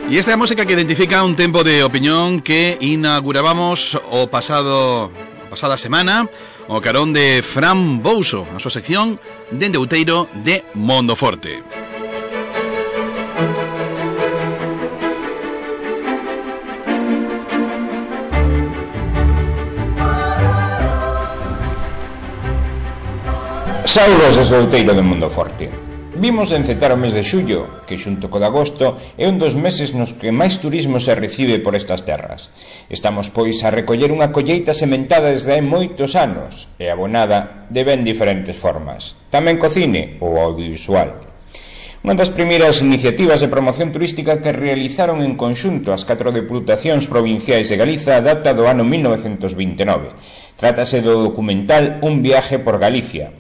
E esta é a música que identifica un tempo de opinión que inaugurábamos o pasada semana o carón de Fran Bouso, a súa sección Dende Outeiro de Mondoforte. Saudos desde Outeiro de Mondoforte. Vimos de encetar o mes de xullo, que xunto co de agosto é un dos meses nos que máis turismo se recibe por estas terras. Estamos, pois, a recoller unha colleita sementada desde hai moitos anos e abonada de ben diferentes formas. Tamén co cine ou audiovisual. Unha das primeiras iniciativas de promoción turística que realizaron en conxunto as 4 deputacións provinciais de Galiza data do ano 1929. Trátase do documental Un viaje por Galicia.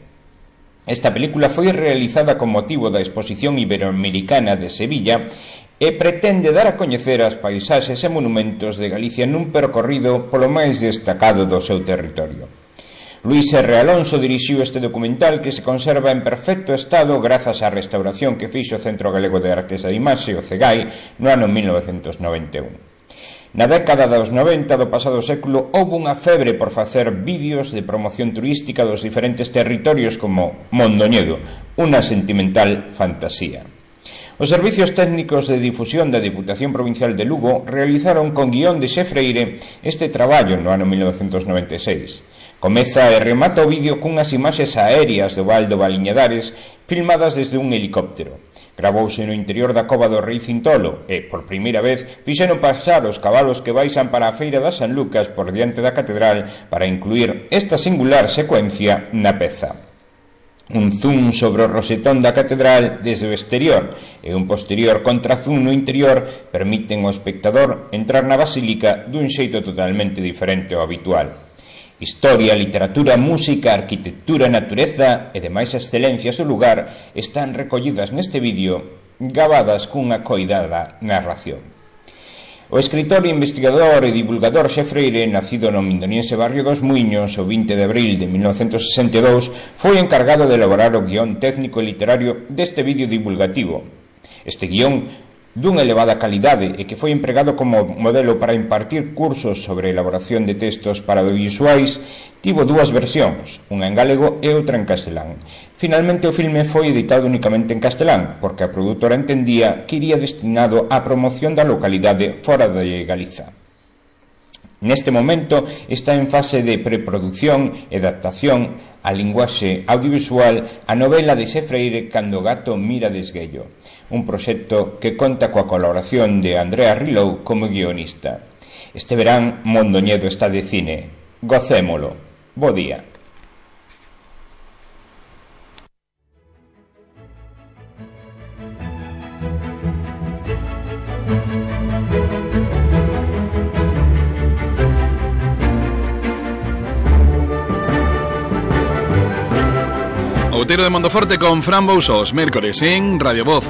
Esta película foi realizada con motivo da Exposición Iberoamericana de Sevilla e pretende dar a coñecer as paisaxes e monumentos de Galicia nun percorrido polo máis destacado do seu territorio. Luís R. Alonso dirixiu este documental que se conserva en perfecto estado grazas á restauración que fixo o Centro Galego de Artes da Imaxe, o CEGAI, no ano 1991. Na década dos 90 do pasado século houve unha febre por facer vídeos de promoción turística dos diferentes territorios como Mondoñedo, unha sentimental fantasía. Os servicios técnicos de difusión da Diputación Provincial de Lugo realizaron con guión de Xefreire este traballo no ano 1996. Comeza e remata o vídeo cunhas imaxes aéreas do Val do Baliñadares filmadas desde un helicóptero. Gravouse no interior da cova do Rei Cintolo e, por primeira vez, fixeron pasar os cabalos que baixan para a feira da San Lucas por diante da catedral para incluir esta singular secuencia na peza. Un zoom sobre o rosetón da catedral desde o exterior e un posterior contrazoom no interior permiten ao espectador entrar na basílica dun xeito totalmente diferente ao habitual. Historia, literatura, música, arquitectura, natureza e demais excelencias do lugar están recollidas neste vídeo, gabadas cunha coidada narración. O escritor, investigador e divulgador Xefreire, nacido no mindoniense barrio dos Muiños o 20 de abril de 1962, foi encargado de elaborar o guión técnico e literario deste vídeo divulgativo. Este guión dunha elevada calidade e que foi empregado como modelo para impartir cursos sobre elaboración de textos para audiovisuais, tivo dúas versións, unha en galego e outra en castelán. Finalmente o filme foi editado únicamente en castelán, porque a produtora entendía que iría destinado á promoción da localidade fora de Galiza. Neste momento está en fase de preproducción e adaptación á linguaxe audiovisual a novela de Xefreire Cando o gato mira de esguello, un proxecto que conta coa colaboración de Andrea Rilou como guionista. Este verán Mondoñedo está de cine. Gocémolo. Bo día. Outeiro de Mondoforte con Fran Bouso, os mércores en Radio Voz.